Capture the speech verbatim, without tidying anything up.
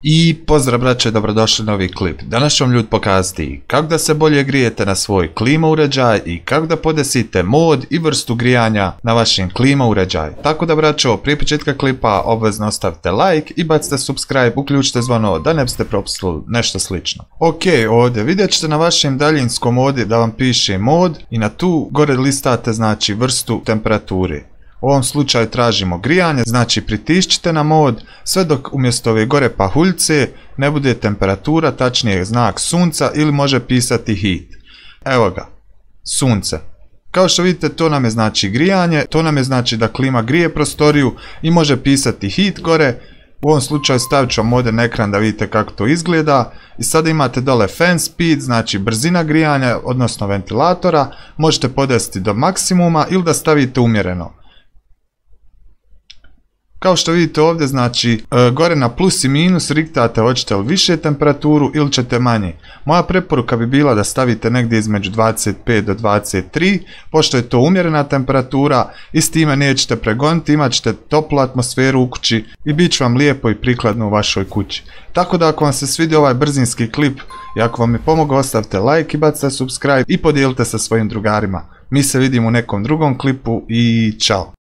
I pozdrav braće, dobrodošli na novi klip. Danas ću vam ljudi pokazati kako da se bolje grijete na svoj klima uređaj i kako da podesite mod i vrstu grijanja na vašem klima uređaju. Tako da braćo, prije početka klipa obvezno ostavite like i bacite subscribe, uključite zvono da ne biste propustili nešto slično. Ok, ovdje vidjet ćete na vašem daljinskom ovdje da vam piše mod i na tu gore listate znači vrstu temperature. U ovom slučaju tražimo grijanje, znači pritišćite na mod sve dok umjesto ove gore pahuljce ne bude temperatura, tačnije znak sunca ili može pisati heat. Evo ga, sunce. Kao što vidite to nam je znači grijanje, to nam je znači da klima grije prostoriju i može pisati heat gore. U ovom slučaju stavit ću vam ovdje na ekran da vidite kako to izgleda. I sada imate dole fan speed, znači brzina grijanja, odnosno ventilatora. Možete podesiti do maksimuma ili da stavite umjereno. Kao što vidite ovdje, znači, gore na plus i minus riktate hoćete li više temperaturu ili ćete manje. Moja preporuka bi bila da stavite negdje između dvadeset pet do dvadeset tri, pošto je to umjerena temperatura i s time nećete pregoniti, imat ćete toplu atmosferu u kući i bit će vam lijepo i prikladno u vašoj kući. Tako da ako vam se svidio ovaj brzinski klip i ako vam je pomogao, ostavite like i bacite subscribe i podijelite sa svojim drugarima. Mi se vidimo u nekom drugom klipu i čao!